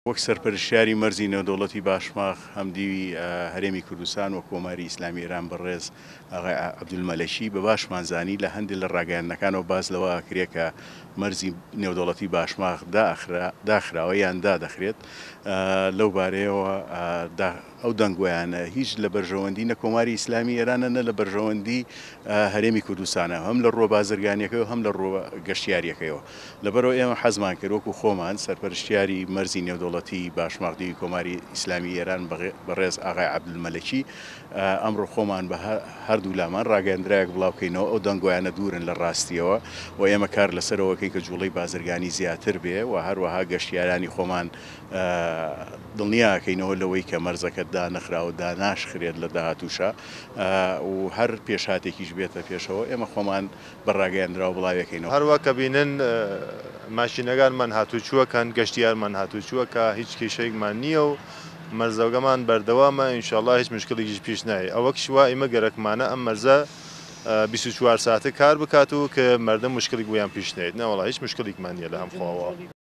وەک سەرپەرشتیاری مەرزی نێودەوڵەتی باشماخ هەمدیوی هەرێمی کوردستان و کۆماری ئیسلامی ئێران بەڕێز ئاغای عەبدولمەلەکی بە باشمان زانی لە هەندێک لە ڕاگەیاندنەکانەوە باس لەوە ئەکرێ کە مەرزی نێودەوڵەتی باشماخ داخراوە یان دادەخرێت لەو بارەیەوە ئەو دەنگۆیانە هیچ لە بەرژەوەندی نە کۆماری ئیسلامی ئێرانە نە لە بەرژەوەندی هەرێمی کوردستانە هەم لە ڕووە بازرگانیەکەی و هەم لە ڕووە گەشتیاریەکەیەوە. لەبەرئەوە ئێمە حەزمان کرد وەکو خۆمان سەرپەرشتیاری مەرزی نێودەوڵەتی باشماخ دیوی کۆماری ئیسلامی ئێران بەڕێز ئاغای عەبدولمەلەکی ئەمڕۆ خۆمان بە هەردوولامان ڕاگەیەندراوێک بڵاوکەینەوە ئەو دەنگۆیانە دوورن لە ڕاستیەوە و ئێمە کار لەسەرەوەکەین کە جوڵەی بازرگانی زیاتر بێ و هەروەها گەشتیارانی خۆمان دڵنیاکەینەوە لەوەی کە مەرزەکە دانەخراوە داناشخرێت لە داهاتووشا و هەر پێشهاتێکیش بێتە پێشەوە ئێمە خۆمان بە ڕاگەیەندراو بڵاویەکەینەوە. هەروا کە بینن ماشینەگانمان هاتوچوەکەن، گەشتیارمان هاتوچوەکە، هیچ کیشەیگمان نییە و مەرزەگەمان بەردەوامە، ئینشاڵڵا هیچ مشکڵیگیش پیش نایە. ئەوەکش وا ئیمە گەرەکمانە ئەم مەرزە 24 ساعتە کار بکات و کە مەردم مشکڵیگ وەیان پیش نەیەت. نەوەڵا هیچ مشکڵیگمان نییە لە هەم خواوە.